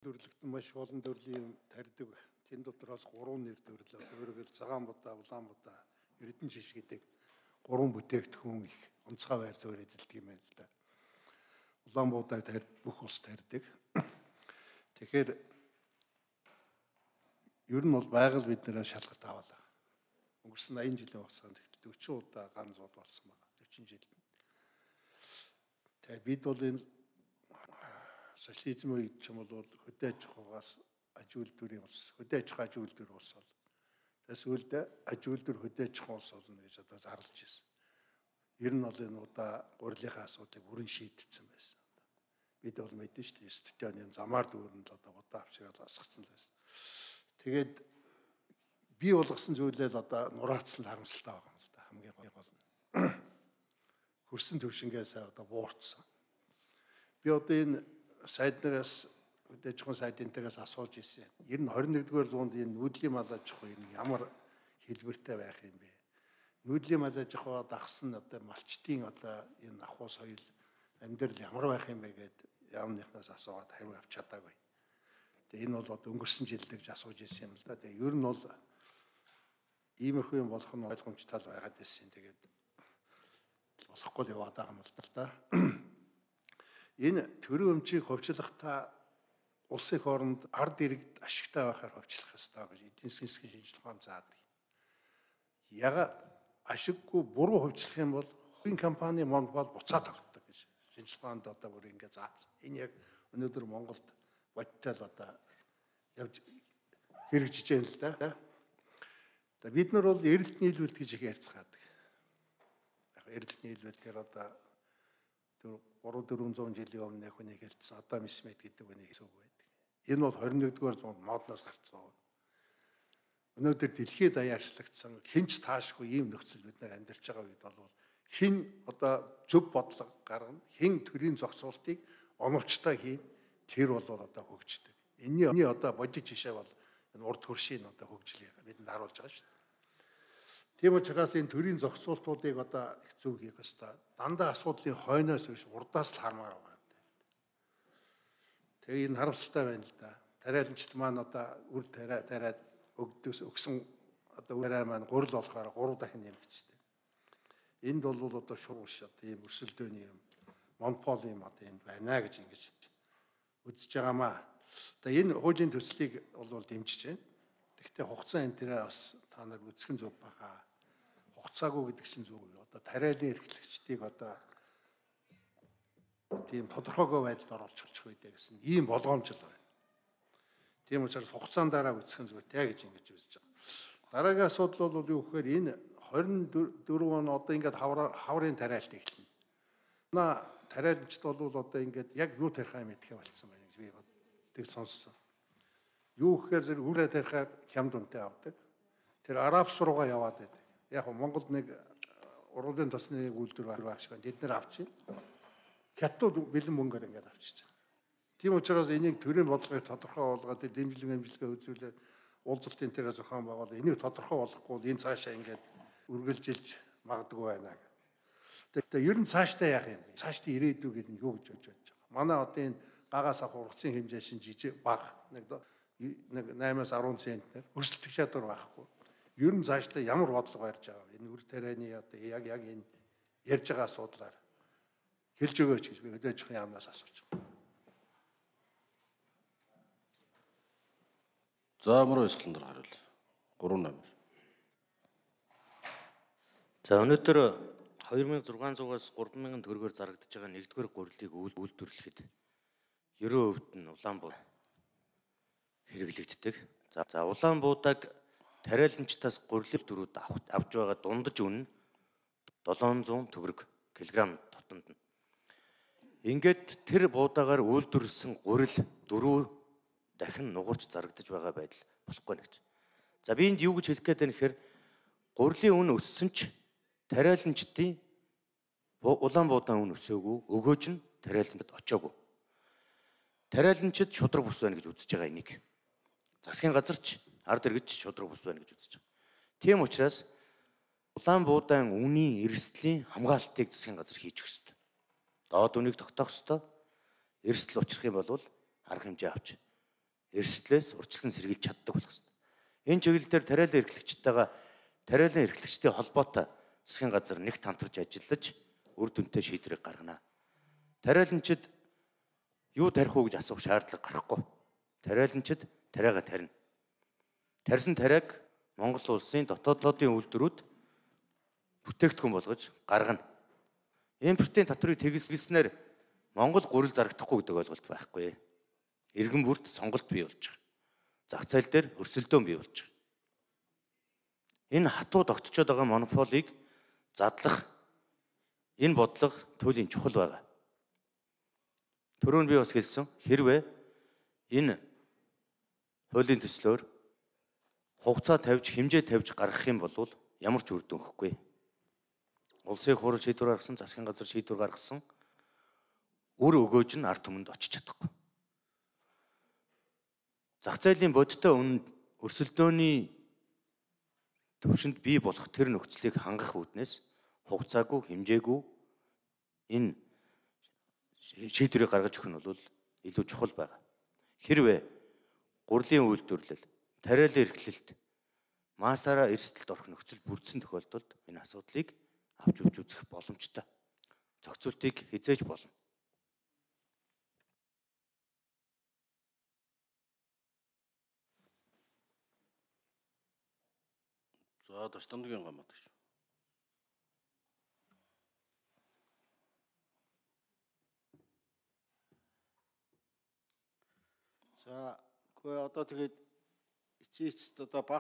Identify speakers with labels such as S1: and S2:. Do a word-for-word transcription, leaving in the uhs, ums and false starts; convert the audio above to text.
S1: Төрлөختөн маш олон төрлийн тарьдаг. Тэн дотроос гурван нэр төрлөө. Өөрөөр цагаан будаа, улаан будаа, эрдэнэ шиш гэдэг гурван бүтээгдэхүүн их онцгой байр суурь эзэлдэг юм байна л да. Улаан будаа тарьд бүх улс тарьдаг. Тэгэхээр ер нь бол байгаль биднээс шалгалт аваалаа. Өнгөрсөн аян жилийн хугацаанд дөрвөн удаа ганц зууд болсон байна. дөрвөн жилд. Тэгээ бид бол энэ социализм үед ч юм бол хөдөө аж ахуйгаас аж үйлдвэрийн улс, хөдөө аж ахуй аж үйлдвэр улс бол. Тэс үлд аж үйлдвэр хөдөө аж ахуй улс болно гэж одоо зарлж ирсэн. Ер нь бол энэ удаа гурилынхаа асуудыг бүрэн шийдсэн байсан. Бид бол мэдэн шүү дээ, студионы замаар дүүрэнд л одоо удаа авчираад асгацсан л байсан. Тэгээд би болгосон зүйлээ л одоо нураацсан харамсалтай байгаа юм л да. Хамгийн гол нь. Хөрсөн төвшингээс одоо буурцсан. Би одоо энэ сайд нараас хөдөө аж ахуйн сайдын дээрээс асууж ирсэн. Ер нь хорин нэгдүгээр зуунд энэ нүүдлийн мал аж ахуй ямар хэлбэртэй байх юм бэ? Нүүдлийн мал аж ахуйгаа дагсан одоо малчтын одоо энэ ахуй соёл амьдрал ямар байх юм бэ гэд яамныхнаас асуугаад хариу авч чадаагүй. Тэгээ энэ бол одоо өнгөрсөн жилд гэж асууж ирсэн юм л да. Тэгээ ер нь бол иймэрхүү юм болох нь ойлгомжтой байгаад байсан. Тэгээд болохгүй л яваад байгаа юм л да. Энэ төрийн өмчийг ховчлохдоо улсын их оронд ард иргэд ашигтай байхаар ховчлох ёстой гэж эдийн засгийн шинжилгээ заадаг. Ягаад ашиггүй буруу ховчлох юм бол хувийн компани Монголд буцаад тогтдог гэж шинжилгээнд одоо бүр ингэ заасан. Энэ яг өнөөдөр Монголд бодтол одоо явж хэрэгжиж байна л да. За бид нар бол эрэлт нийлүүлэлт гэж их ярьцгаадаг. Яг эрэлт нийлүүлэлт гэхээр одоо гурван дөрвөн зуун жилийн өмнө хүнийг хэлсэн Адам Смит гэдэг хүнийг хэлсэн үг байдаг. Энэ бол хорин нэгдүгээр зуунд модноос гарцсан. Өнөөдөр дэлхийд даяарчлагдсан хинч таашгүй ийм нөхцөл бид нар амьдарч байгаа үед бол хин одоо зөв бодлого гаргана, хин төрийн зохицуултыг оновчтой хийн, тэр бол одоо хөгждөг. Энийний одоо бодит жишээ бол энэ урд хөршийн одоо хөгжлийг бидэнд харуулж байгаа шүү дээ. Тийм учраас энэ төрийн зохицуултуудыг одоо их зөв хийх ёстой. Дандаа асуудлын хойноос биш урдаас л хармаар байгаа юм. Тэгээ энэ харамсалтай байна л да. Тариаланчт маань одоо үр тариа тариад өгдөөс өгсөн одоо үрээ маань гурил болохоор гурав дахин нэмэгчтэй. Энд бол одоо шуурш одоо ийм өрсөлдөөний юм монопол юм одоо энд байна гэж ингэж үзэж байгаамаа. Одоо энэ хуулийн төслийг бол дэмжиж байна. Гэхдээ хугацаа энэ тэрэ бас та нар үзэх нь зөв баха. Хугацаагүй гэдэг чинь зөв үү? Одоо тариалан эрхлэгчдийг одоо тийм тодорхойгүй байдалд оруулж болчих үедээ гэсэн ийм болгоомжл байна. Тийм учраас хугацаан дараа үзэх нь зүйтэй гэж ингэж үзэж байгаа. Дараагийн асуудал бол юу гэхээр энэ хорин дөрөв он одоо ингээд хаврын тариалт эхэлнэ. Манай тариаланчд бол одоо ингээд яг юу тарихаа мэдхээ болцсон байна гэж би боддог сонссон. Юу гэхээр зэрэг үрээ тарихаар хямд үнэтэй авдаг. Тэр араб сургаа яваад байдаг. Яг нь Монголд нэг ургуулын тосны үйлдвэр байх шиг байна. Тэд нэр авчихна. Хятад бэлэн мөнгөөр ингээд авчиж байгаа. Тийм учраас энийг төрийн бодлогыг тодорхой болгоод тэр дэмжлэг хэмжлэгээ үзүүлээд уулзалтын тэрэ зохион байгуулаад энийг тодорхой болгохгүй энэ цаашаа ингээд үргэлжилж магадгүй байна. Тэгэхээр ер нь цаашдаа яах юм бэ? Цаашдаа ирээдүй гэдэг нь юу гэж бодож байгаа. Манай одоо энэ гагаас авах ургацын хэмжээ шин жижиг бага нэг нэг наймаас арван центнер өрсөлдөх чадвар байхгүй. Ер нь цаашдаа ямар бодлого барьж байгаа вэ? Энэ үр тарианы одоо яг яг энэ ярьж байгаа асуудлаар хэлж өгөөч гэж би хөдөө аж ахуйн яамнаас асууж байгаа.
S2: За мөр өсгөлнөр харуул. гурван номер.
S3: За өнөөдөр хоёр мянган зургаан зуугаас гурван мянган төгрөгөөр зарагдаж байгаа нэгдүгээр гурилыг үйлдвэрлэхэд ерөө өвд нь Улаанбуу хэрэглэгддэг. За за Улаанбуудаг тариаланчтаас гурилын дөрүүд авч байгаа дундаж үн нь долоон зуун төгрөг килограмм дотонд нь. Ингээд тэр буудагаар үйлдвэрлэсэн гурил дөрөв дахин нугарч зарагдаж байгаа байдал болохгүй нэгж. За би энд юу гэж хэлэх гээд байна гэхээр гурилын үн өссөн ч тариаланчдын Улаанбуудаан үн өсөөгүй, өгөөж нь тариаланчд очоогүй. Тариаланчид шудраг бус байна гэж үзэж байгаа энийг. Засгийн газар ч ард иргэд ч шудраг бус байна гэж үзэж байгаа. Тийм учраас Улаанбуудаан үнийн эрсдлийн хамгаалтыг засгийн газар хийж өгөх ёстой. Доод үнийг тогтоох ёстой. Эрсдэл учрах юм бол арга хэмжээ авч эрсдлээс урьдчилан сэргийлж чаддаг болох ёстой. Энэ чиглэлээр тариалан эрхлэгчтэйгээ тариалан эрхлэгчдийн холбоотой засгийн газар нэгт хамтарч ажиллаж үр дүнтэй шийдвэрийг гаргана. Тариаланчид юу тарих уу гэж асуух шаардлага гарахгүй. Тариаланчид тариагаа тарина. Тарьсан тариаг Монгол улсын дотоодын үйлдвэрүүд бүтээгдэхүүн болгож гаргана. Импортын татварыг тэгэлснээр Монгол гурил зарагдахгүй гэдэг ойлголт байхгүй. Иргэн бүрт сонголт бий болж байгаа. Зах зээл дээр өрсөлдөөн бий болж байгаа. Энэ хатуу тогтцоод байгаа монополийг задлах энэ бодлого туйлын чухал байгаа. Түрүүн би бас хэлсэн хэрвээ энэ хуулийн төслөөр хугацаа тавьж хэмжээ тавьж гаргах юм бол ямар ч үр дүн өгөхгүй. Улсын хурал шийдвэр гаргасан, засгийн газар шийдвэр гаргасан үр өгөөж нь ард түмэнд очиж чадахгүй. Зах зээлийн бодиттой үнэнд өрсөлдөөний төвшөнд бий болох тэр нөхцөлийг хангах үүднээс хугацаагүй, хэмжээгүй энэ шийдвэрийг гаргаж өгөх нь бол илүү чухал байна. Хэрвээ гурлийн үйлдвэрлэл, тариалан эрхлэлт, маасаараа эрсдэлд орох нөхцөл бүрдсэн тохиолдолд энэ асуудлыг авч явж үзэх боломжтой. Зохицуултыг хязгаарч болно.
S2: За Дашдангийн гамаад гэж.
S4: За, үгүй одоо тэгээд эцээч одоо баг